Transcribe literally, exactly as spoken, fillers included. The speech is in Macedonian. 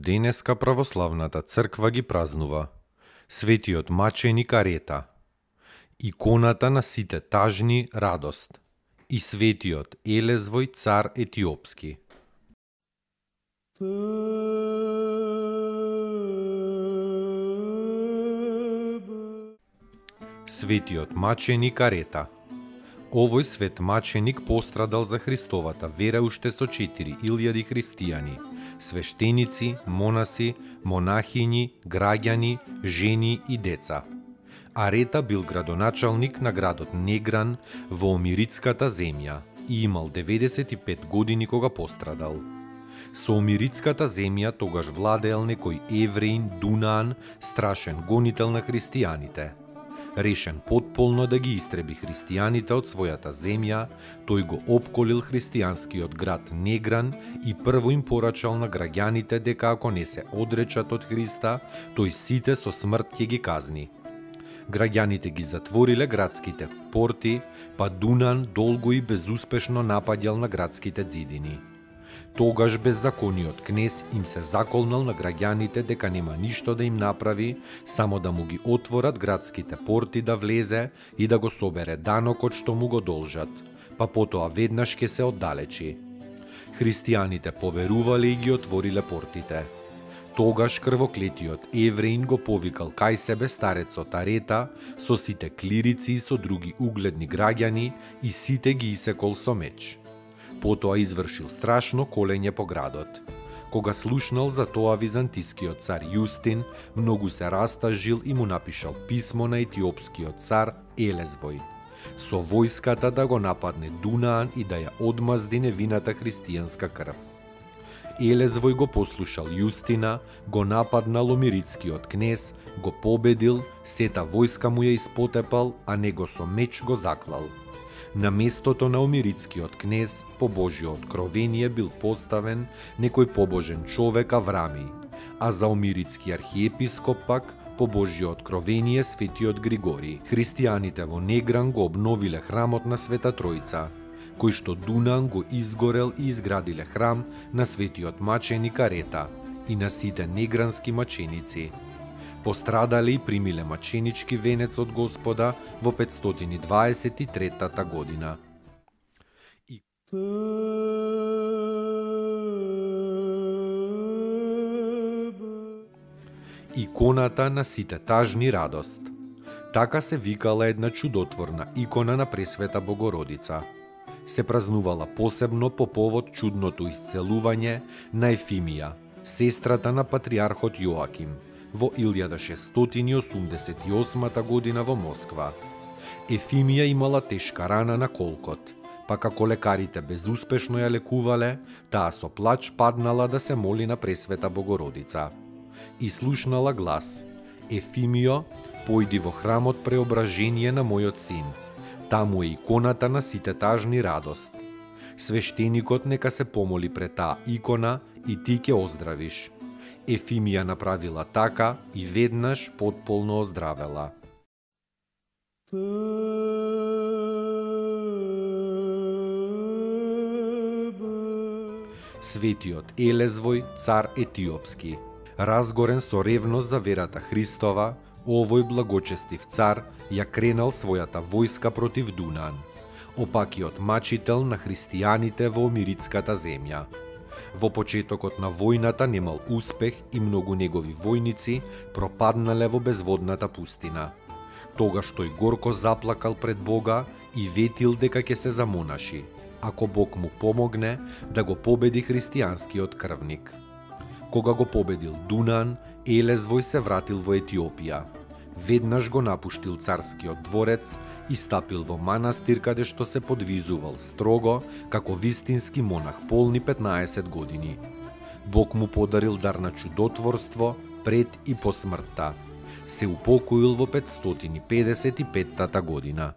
Денеска православната црква ги празнува светиот маченик Арета, иконата на сите тажни радост и светиот Елезвој цар етиопски. Светиот маченик Арета. Овој свет маченик пострадал за Христовата вера уште со четири илјади христијани, свештеници, монаси, монахињи, граѓани, жени и деца. Арета бил градоначалник на градот Негран во Омирицката земја и имал деветдесет и пет години кога пострадал. Со Омирицката земја тогаш владеел некој евреин Дунаан, страшен гонител на христијаните. Решен потполно да ги истреби христијаните од својата земја, тој го опколил христијанскиот град Негран и прво им порачал на граѓаните дека ако не се одречат од Христа, тој сите со смрт ќе ги казни. Граѓаните ги затвориле градските порти, па Дунаан долго и безуспешно напаѓал на градските ѕидини. Тогаш беззакониот кнез им се заколнал на граѓаните дека нема ништо да им направи, само да му ги отворат градските порти да влезе и да го собере данокот што му го должат, па потоа веднаш ќе се оддалечи. Христијаните поверувале и ги отвориле портите. Тогаш крвоклетиот евреин го повикал кај себе старецот Арета со сите клирици и со други угледни граѓани и сите ги исекол со меч. Потоа извршил страшно колење по градот. Кога слушнал за тоа византискиот цар Јустин, многу се растажил и му напишал писмо на етиопскиот цар Елезвој, со војската да го нападне Дунаан и да ја одмазди невината христијанска крв. Елезвој го послушал Јустина, го нападнал омирицкиот кнез, го победил, сета војска му ја испотепал, а него со меч го заклал. На местото на омирицкиот кнез, по Божјо откровение бил поставен некој побожен човек Аврами, а за омирицки архиепископ пак, по Божјо откровение светиот Григори. Христијаните во Негран го обновиле храмот на Света Тројца, кој што Дунаан го изгорел и изградиле храм на светиот маченик Арета и на сите негрански маченици. Пострадале и примиле маченички венец од Господа во петстотини и дваесет и трета година. И... Иконата на сите тажни радост. Така се викала една чудотворна икона на Пресвета Богородица. Се празнувала посебно по повод чудното исцелување на Ефимија, сестрата на патриархот Јоаким, во илјада шестстотини и осумдесет и осма година во Москва. Ефимија имала тешка рана на колкот, па како лекарите безуспешно ја лекувале, таа со плач паднала да се моли на Пресвета Богородица. И слушнала глас: Ефимио, појди во храмот Преображение на мојот син. Таму е иконата на сите тажни радост. Свештеникот нека се помоли пред таа икона и ти ќе оздравиш. Ефимија направила така и веднаш потполно оздравела. Светиот Елезвој цар етиопски. Разгорен со ревност за верата Христова, овој благочестив цар ја кренал својата војска против Дунаан, опакиот мачител на христијаните во Омирицката земја. Во почетокот на војната немал успех и многу негови војници пропаднале во безводната пустина. Тогаш тој горко заплакал пред Бога и ветил дека ќе се замонаши, ако Бог му помогне да го победи христијанскиот крвник. Кога го победил Дунаан, Елезвој се вратил во Етиопија. Веднаш го напуштил царскиот дворец и стапил во манастир каде што се подвизувал строго како вистински монах полни петнаесет години. Бог му подарил дар на чудотворство пред и по смртта. Се упокоил во петстотини педесет и петтата година.